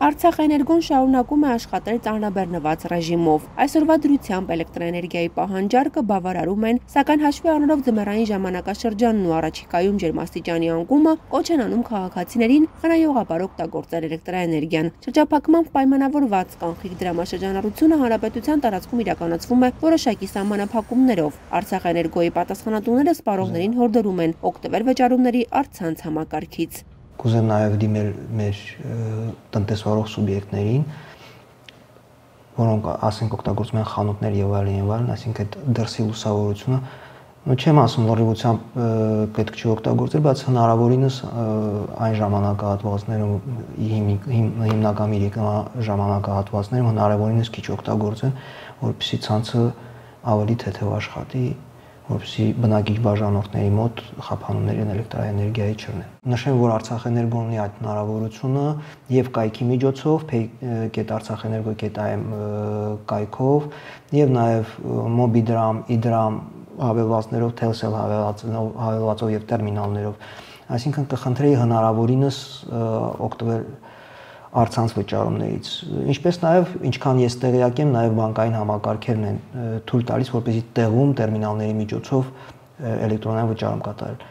Արցախ էներգոն շարունակում է աշխատել ծանրաբեռնված ռեժիմով։ Այսօրվա դրությամբ էլեկտրաէներգիայի պահանջարկը բավարարում են, սակայն հաշվի առնելով ձմեռային ժամանակաշրջանն ու առաջիկայում ջերմաստիճանի անկումը, կոչ են անում քաղաքացիներին խնայողաբար օգտագործել էլեկտրաէներգիան։ Շրջափակման պայմանավորված կանխիկ դրամաշրջանառությունը հանրապետության տարածքում իրականացվում է որոշակի սահմանափակումներով։ Արցախ էներգոյի պատասխանատուները սպառողներին հորդորում են օգտվել վճարումների առցանց համակարգից։ Կուզեմ նաև դիմել մեր տնտեսվարող սուբյեկտներին, որոնք ասենք օգտագործում են խանութներ եւ այլն, այսինքն այդ դրսի լուսավորությունը, չեմ ասում լրիվությամբ պետք չի օգտագործել, բայց հնարավորինս այն ժամանակահատվածներում հիմնական ժամանակահատվածներում հնարավորինս քիչ օգտագործեն, որպեսզի ցանցը ավելի թեթև աշխատի, որպեսզի բնակիչ բաժանորդների մոտ խափանումների էլեկտրաէներգիայի չլինեն։ Նշեմ, որ Արցախ էներգոն ունի այդ հնարավորությունը եւ կայքի միջոցով, pay.artsakhenergo.am կայքով եւ նաեւ Mobigram, Idram հավելվածներով, Telcel հավելվածով եւ տերմինալներով։ Այսինքն կխնդրեի հնարավորինս օգտվել առցանց վճարումներից, ինչպես նաև ինչքան ես տեղյակ եմ, նաև բանկային համակարգերն են թույլ տալիս, որպեսզի տեղում տերմինալների միջոցով էլեկտրոնային վճարում կատարել։